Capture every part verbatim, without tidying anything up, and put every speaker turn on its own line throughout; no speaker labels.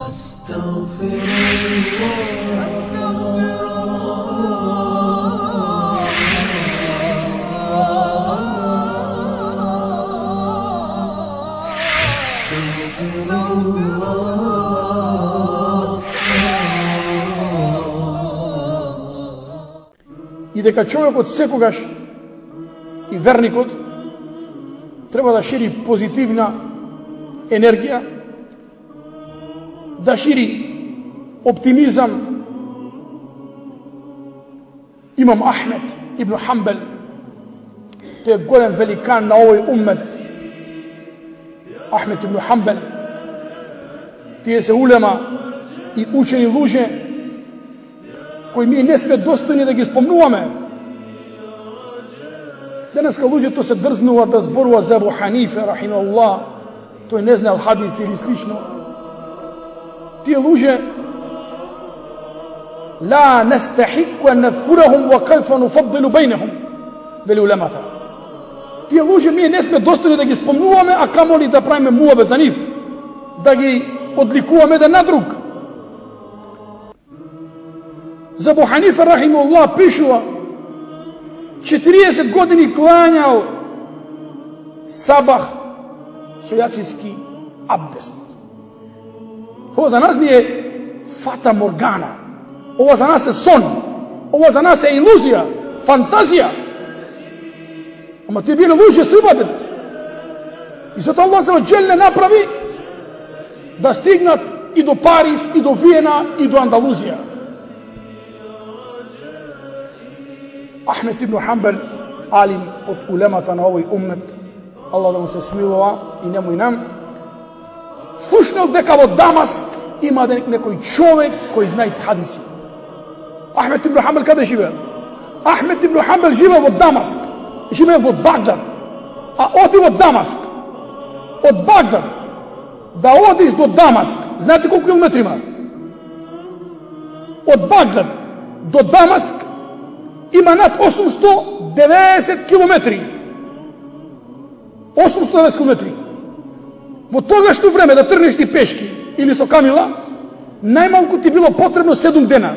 أستغفر
И дека човекот секогаш и верникот треба да шири позитивна енергија, да шири оптимизам. Имам Ахмед ибн Хамбел, тој е голем великан на овој уммет. Ахмед ибн Хамбел, тие се улема и учени луѓе кои ми не сме достојни да ги спомнуваме. Денеска луѓето се дрзнува да зборува за Абу Ханифе, рахимахуллах, тој не знаел хадис или слично. Тие луѓе ла нестахику ан надкурахум ва кайфа нуфаддилу бейнахум, вели улемата. Тие луѓе ми не сме достојни да ги спомнуваме, а камоли да правиме муабет за нив, да ги одликуваме еден на друг. За Абу Ханифе, рахимахуллах, пишува четириесет години клањал сабах со јациски абдест. Ова за нас не е фата моргана. Ова за нас е сон. Ова за нас е илузија, фантазија. Ама тие биле луѓе со ибадет. И затоа Аллах се оџелне направи да стигнат и до Париз, и до Виена, и до Андалузија. Ахмед ибн Хамбел, алим од улемата на овој уммет, Аллах да му се смилува и нему и нам, слушнал дека во Дамаск има некој човек кој знае хадиси. Ахмед ибн Хамбел каде живее? Ахмед ибн Хамбел живее во Дамаск, живее во Багдад, а оди во Дамаск. Од Багдад да одиш до Дамаск, знаете колку километри има? Од Багдад до Дамаск има над осумсто деветдесет километри. осумсто деветдесет километри. Во тогашно време да тргнеш ти пешки или со камила, најмалку ти било потребно седум дена.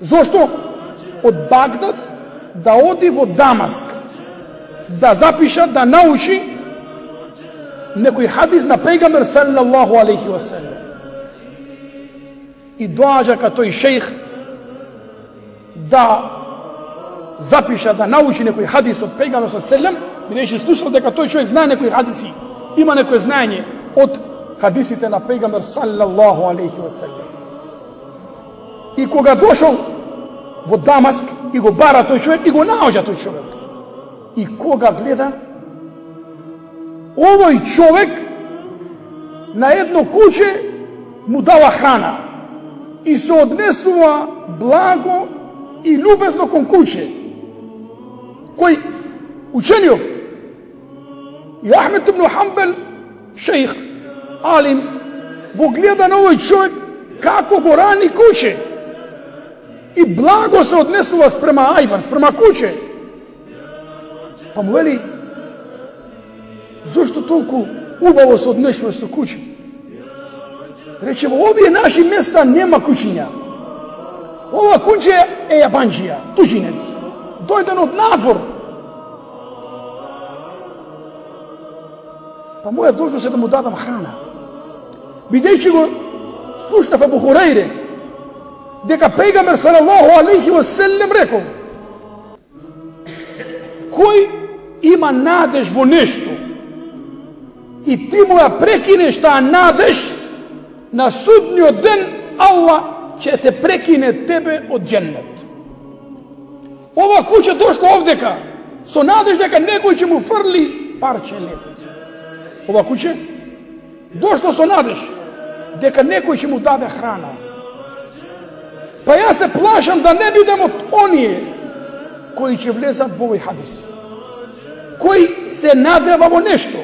Зошто? Од Багдад да оди во Дамаск, да запиша, да научи некој хадис на пејгамбер саллаллаху алейхи ва селем. И доаѓа ка тој шејх да запиша, да научи некој хадис од пејгамберот саллаллаху алейхи ва селем, бидејќи слушал дека тој човек знае некои хадиси, има некој знаење од хадисите на пејгамбер саллаллаху алейхи ва селем. И кога дошол во Дамаск и го бара тој човек и го наоѓа тој човек. И кога гледа овој човек на едно куче му дава храна и се однесува благо и љубезно кон куче, кој учениов. И Ахмед ибн Хамбел, шејх, алим, го гледа на овој човек како го рани куче и благо се однесува спрема ајван, спрема куче. Па му вели, зошто толку убаво се однесуваш со куче? Рече, во овие наши места нема кучиња. Ова куче е јабанџија, тужинец, дојден од надвор. Па моја должност е да му дадам храна. Бидејќи го слушнав Абу Хурейре, дека пејгамбер салаллаху алейхи ва селем рекол: кој има надеж во нешто и ти му ја прекинеш таа надеж, на судниот ден Аллах ќе те прекине тебе од џеннет. Ова куче дошло овдека со надеж дека некој ќе му фрли парче леп. Ова куче дошло со надеж дека некој ќе му даде храна. Па јас се плашам да не бидам од оние кои ќе влезат во овој хадис, кој се надева во нешто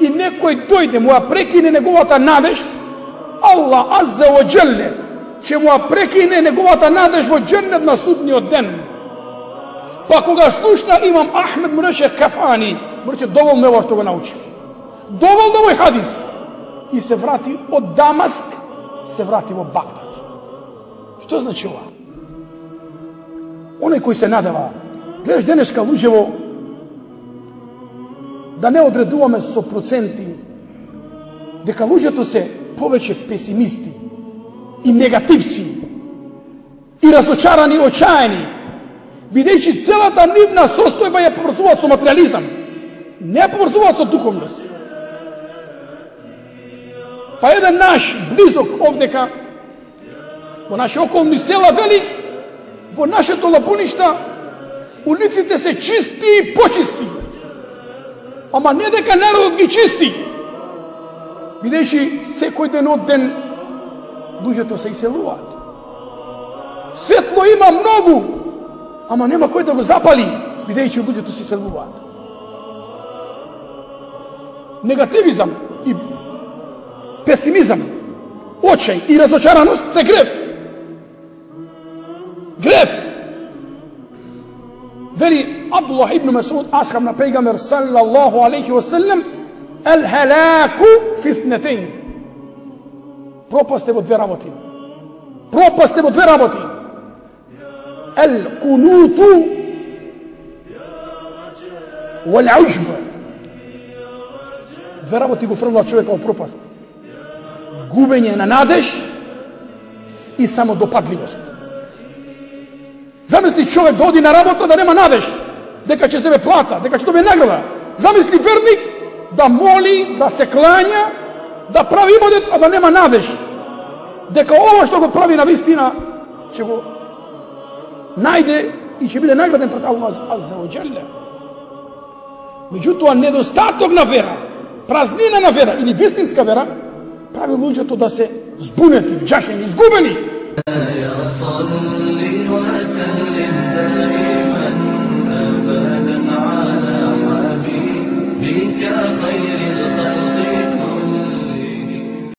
и некој дојде му ја прекине неговата надеж, Аллах азза ва џелле ќе му ја прекине неговата надеж во џеннет на судниот ден. Па кога слушна имам Ахмед, му рече кафани, му рече доволно е ова што го научив. Доволно овој хадис. и се врати од Дамаск, се врати во Багдад. Што значи ова? Оној кој се надава, гледаш денешка луѓево, да не одредуваме со проценти, дека луѓето се повеќе песимисти и негативци и разочарани, очаени, бидејќи целата нивна состојба ја поврзуваат со материализам, не ја поврзуваат со духовност. Па еден наш близок овдека, во наши околни села, вели, во нашето Лабуништа улиците се чисти и почисти. Ама не дека народот ги чисти, бидејќи секој ден од ден луѓето се иселуваат. Светло има многу, ама нема кој да го запали, бидејќи луѓето се иселуваат. Негативизам и песимизам, очај и разочараност се грев. Грев. Вели Абдуллах ибн Масуд, асхаб на пејгамбер саллаллаху алейхи ва саллем, ел-халаку фи итнатейн. Пропаст е во две работи. Пропаст е во две работи. Ел-кунуту вал-уџб. Две работи го фрлаа човека во пропаст. Губење на надеж и самодопадливост. Замисли човек да оди на работа да нема надеж, дека ќе себе плата, дека ќе добие награда. Замисли верник да моли, да се клања, да прави ибадет, а да нема надеж, дека ова што го прави на вистина ќе го најде и ќе биде награден пред Аллах азза ва џелле. Меѓутоа, недостаток на вера, празнина на вера или вистинска вера прави луѓето да се збунети, вџашени, изгубени.
يا صل وسلم دائما أبدا على حبيبك خير